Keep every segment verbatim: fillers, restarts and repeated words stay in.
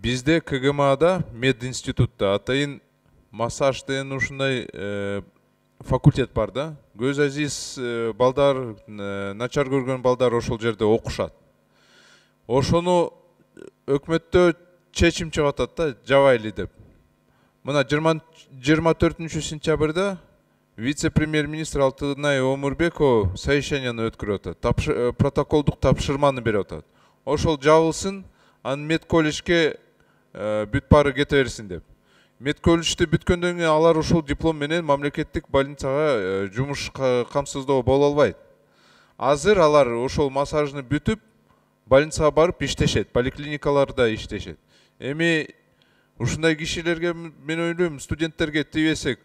Бизде КГМАда мединститутта атайын массаж деген ушундай факультет бар да. Көз азиз балдар, начар көргөн балдар ошол жерде окушат. Ошону өкмөттө чечим чыгып атат да, жабайлы деп. Мына жыйырма төртүнчү сентябрда вице-премьер-министр Алтынай Омурбекова совещанияны өткөрүп атат. Протоколдук тапшырманы берип атат. Ошол жабылсын, анын мед колледжге бүт баары кете берсин деп. Мед колледжди бүткөндөн кийин алар ошол диплом менен мамлекеттик больницага жумуш камсыздоо боло албайт. Азыр алар ошол массажны бүтүп, больницага барып иштешет, поликлиникаларда иштешет. Эми ушундай кишилерге мен ойлойм, студенттерге тийбесек,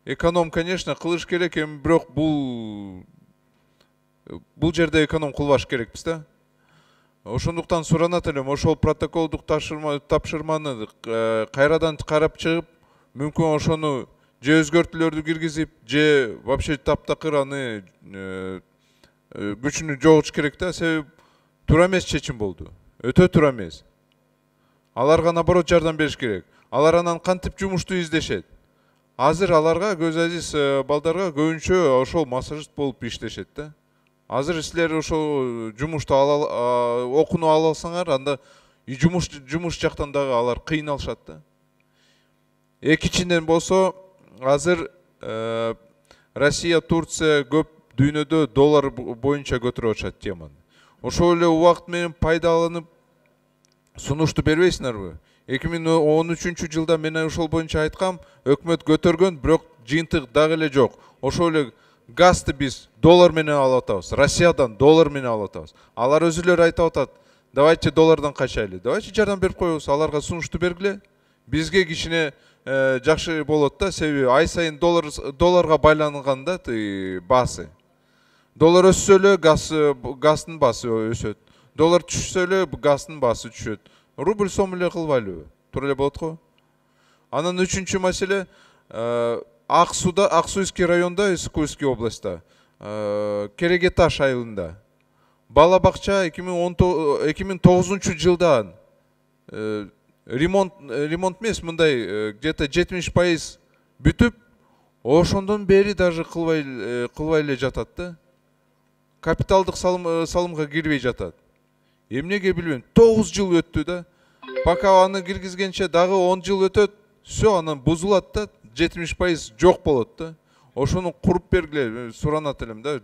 эконом, конечно, кылыш керек, эми бирок бул бул жерде эконом кылбаш керекпиз да. Ошондуктан суранат элем, ошол протоколдук тапшырманы кайрадан карап чыгып, мүмкүн ошону же өзгөртүүлөрдү киргизип, же вообще таптакыр аны күчүнү жоготуш керек да. Себеби туура эмес чечим болду. Өтө туура эмес. Аларга наоборот жардам бериш керек. Алар анан кантип жумушту издешет? Азыр аларга, көз азиз балдарга көбүнчө ошол массажист болуп иштешет да. Азыр силер ошол жумушту окууну ала алсаңар, анда жумуш жумуш жактан дагы алар кыйналышат да. Экинчиден болсо, азыр Россия, Турция көп дүйнөдө доллар боюнча көтөрүп атышат теманы. Ошол эле убакыт менен пайдаланып сунушту бербейсиңерби? эки миң он үчүнчү жылда мен ошол боюнча айткам, өкмөт көтөргөн, бирок жыйынтык дагы эле жок. Ошол эле газды биз доллар менен алып атабыз, Россиядан доллар менен алып атабыз. Алар өзүлөрү айтып атат, давайте доллардан качайлы, давайте жардам берип коебуз, аларга сунушту бергиле. Бизге кичине жакшы болот да, себеби ай сайын доллар долларга байланганда баасы. Доллар өссө эле газдын баасы өсөт. Доллар түшсө эле газдын баасы түшөт. Рубль сом эле кылбайлыбы? Туура эле болот го. Анан үчүнчү маселе, Ак Суда, Аксуйский районда, Искуйский областта, Керегеташ айылында бала бакча эки миң тогузунчу жылдан ремонт ремонт эмес, мындай где-то жетимиш пайыз бүтүп, ошондон бери даже кылбай кылбай эле жатат да. Капиталдык салымга кирбей жатат. Эмнеге билбейм, тогуз жыл өттү да. Пока аны киргизгенче дагы он жыл өтөт, всё анан бузулат да, жетимиш пайыз жок болот да. Ошону куруп бергиле, суранат элем да.